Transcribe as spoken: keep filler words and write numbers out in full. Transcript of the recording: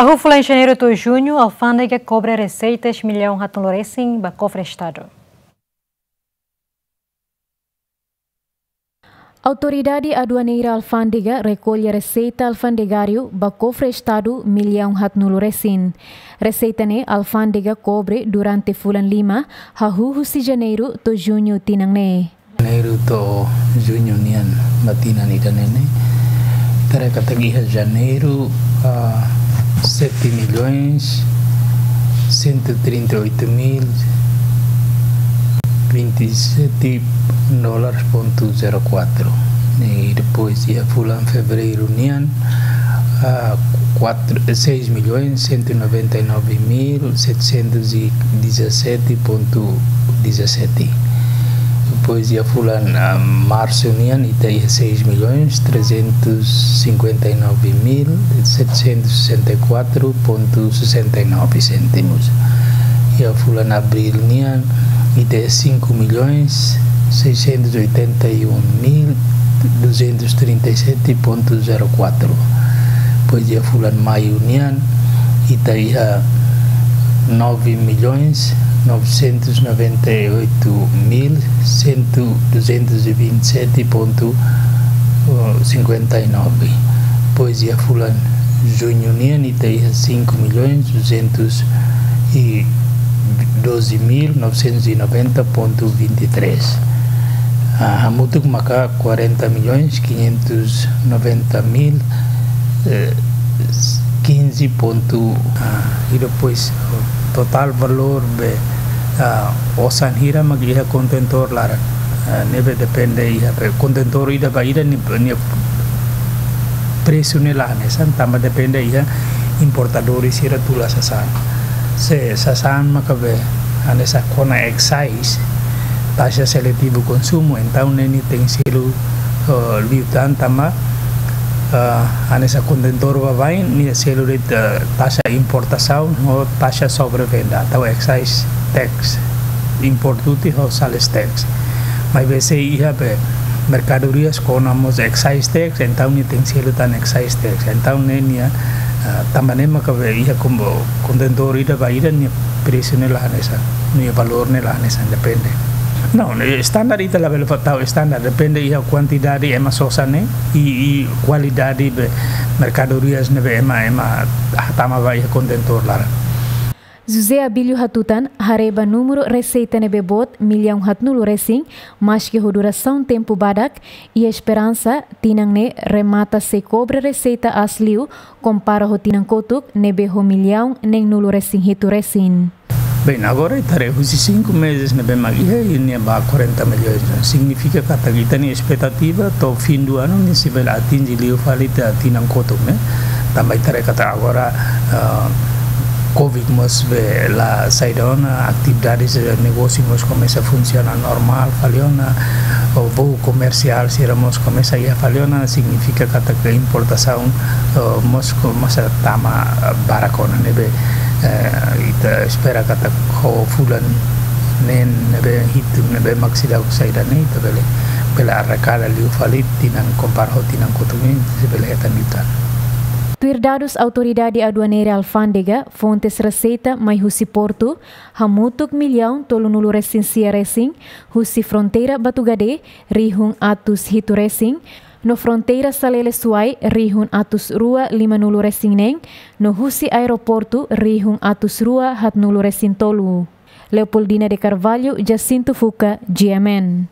Hahú fulan Janeiru to'o Juñu, alfándega kobre reseitas millaun haatnulu resin ba kofre Estadu. Autoridade Aduaneira Alfándega rekolle reseita alfandegáriu ba kofre Estadu millaun haatnulu resin. Reseita ne'e alfándega kobre durante fulan lima, hahú husi Janeiru to'o Juñu tinan ne'e. Janeiru to'o Juñu nian ba tinan ida-ne'e ne'e. Ita haree katak iha Janeiru, ah, sete milhões cento e trinta e oito mil vinte e sete dólares ponto zero quatro. E depois iha fulan Fevereiru nian, ah, quatro, seis milhões cento e noventa e nove mil setecentos e dezassete ponto dezassete. Depois iha fulan, ah, Marsu nian, ita iha seis milhões trezentos cinquenta e nove mil setecentos sessenta e quatro ponto sessenta e nove cêntimos. Iha fulan Abríl nian, ita iha cinco milhões seiscentos oitenta e um mil duzentos trinta e sete ponto zero quatro. Depois iha fulan Maiu nian, ita iha nove milhões novecentos noventa e oito mil cento, duzentos e vinte e sete ponto cinquenta e nove. Depois iha fulan Juñu nian, ita iha cinco milhões duzentos e doze mil novecentos e noventa ponto vinte e três. Ah, hamutuk maka quarenta milhões quinhentos noventa mil, eh, quinze ponto, ah, e depois totál valór be, ah, osan hira mak iha kontentór laran. Ah, ne'ebé depende iha be kontentór ida ba ida nia, nia presu ne'e la hanesan, tanba depende iha importadores sira tula sasán. Se sasán maka be hanesan kona excise, taxa seletivu konsumu, entaun ne'e nia tenke selu, eh, liután tanba, eh, hanesan kontentór baibain nia selu de'it, eh, taxa importasaun ho taxa sobrevenda, tau excise tax, import duty ho sales tax. Maibé se iha be merkadorias kona mós excise tax, entaun nia tenke selu tan excise tax. Entaun ne'e nia, ah, tanba ne'e maka be iha kombo kontentór ida ba ida nia presu ne'e la hanesan, nia valór ne'e la hanesan, depende. Não, ne'e standar ita labele fó tau standar, depende iha kuantidade ema sosa ne'e i, i kualidade be merkadorias ne'ebé ema, ema hatama ba iha kontentór laran. José Abílio hatutan, haree ba númeru reseita ne'ebé boot millaun haatnulu resin, maski ho durasaun tempu badak, iha esperansa tinan ne'e remata sei kobre reseita aas liu, kompara ho tinan kotuk ne'ebé ho millaun neen nulu resin hitu resin. Bem, agora ita haree husi cinco meses ne'ebé mak iha, iha ne'ebá quarenta milhões. Signifika katak ita-nia espetativa to'o fim do ano nia sei bele atinje liu fali tiha tinan kotuk ne'e. Tanba ita haree katak agora, ah, covid mós be la saida ona, atividades, eh, negósiu mós komesa funsiona normál fali ona, o voo komersiál sira mós komesa iha fali ona, signifika katak importasaun, eh, mós komesa tama, eh, barak ona ne'ebé, eh, ita espera katak ho fulan neen ne'ebé hitu ne'ebé mak seidauk saida ne'e ita bele, bele arrakada liu fali tinan kompara ho tinan kotuk ne'e, sei bele hetan liután. Tuir dadus Autoridade Aduaneira Alfándega, fontes reseita mai husi portu, hamutuk millaun tolunulu resin sia resin, husi fronteira Batugade, rihun atus hitu resin, no fronteira Salele Suai, rihun atus rua limanulu resin neen, no husi aeroportu, rihun atus rua haatnulu resin tolu. Leopoldina de Carvalho, Jacinto Fuca, G M N.